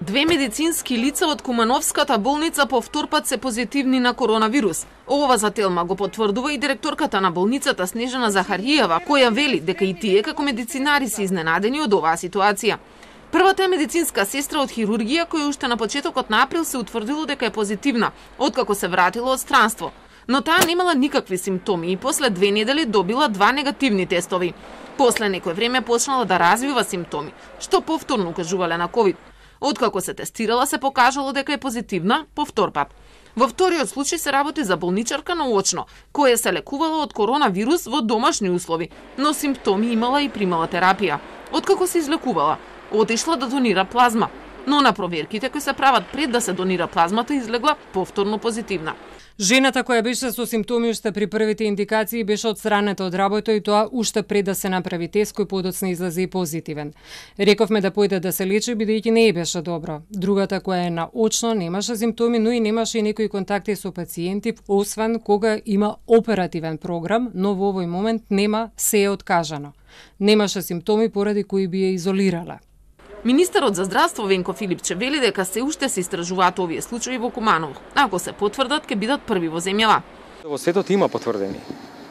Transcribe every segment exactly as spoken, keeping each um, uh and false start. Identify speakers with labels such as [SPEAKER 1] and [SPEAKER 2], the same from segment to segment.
[SPEAKER 1] Две медицински лица од Кумановската болница повтор пат се позитивни на коронавирус. Ова за Телма го потврдува и директорката на болницата Снежана Захариева, која вели дека и тие како медицинари се изненадени од оваа ситуација. Првата е медицинска сестра од хирургија која уште на почетокот на април се утврдило дека е позитивна, откако се вратила од странство. Но таа немала никакви симптоми и после две недели добила два негативни тестови. После некој време почнала да развива симптоми, што повторно укажувале на ковид. Откако се тестирала, се покажало дека е позитивна повтор пат. Во вториот случај се работи за болничарка наочно, која се лекувала од коронавирус во домашни услови, но симптоми имала и примала терапија. Откако се излекувала, отишла да донира плазма, но на проверките кои се прават пред да се донира плазмата излегла повторно позитивна.
[SPEAKER 2] Жената која беше со симптоми уште при првите индикации беше отстранета од работа и тоа уште пред да се направи тест кој подоцна излезе и позитивен. Рековме да појде да се лечи бидејќи не е беше добро. Другата која е наочно немаше симптоми, но и немаше и некои контакти со пациенти, освен кога има оперативен програм, но во овој момент нема, се е откажано. Немаше симптоми поради кои би ја изолирала.
[SPEAKER 1] Министерот за здравство Венко Филипче вели дека се уште се истражуваат овие случаи во Куманово. Ако се потврдат, ќе бидат први во земјава.
[SPEAKER 3] Во светот има потврдени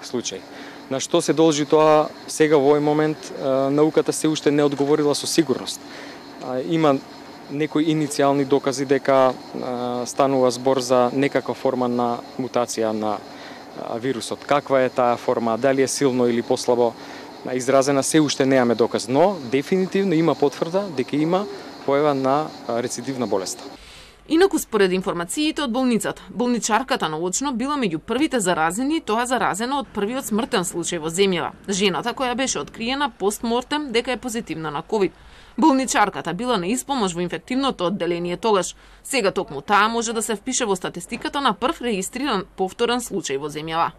[SPEAKER 3] случаи. На што се должи тоа сега во овој момент науката се уште не одговорила со сигурност. Има некои иницијални докази дека станува збор за некаква форма на мутација на вирусот. Каква е таа форма, дали е силно или послабо изразена, се уште немаме доказ, но дефинитивно има потврда дека има појава на рецидивна болест.
[SPEAKER 1] Инаку според информациите од болницата, болничарката наочно била меѓу првите заразени, тоа заразена од првиот смртен случај во земјава. Жената која беше откриена постмортем дека е позитивна на ковид. Болничарката била на испомош во инфективното одделение тогаш. Сега токму таа може да се впише во статистиката на прв регистриран повторен случај во земјава.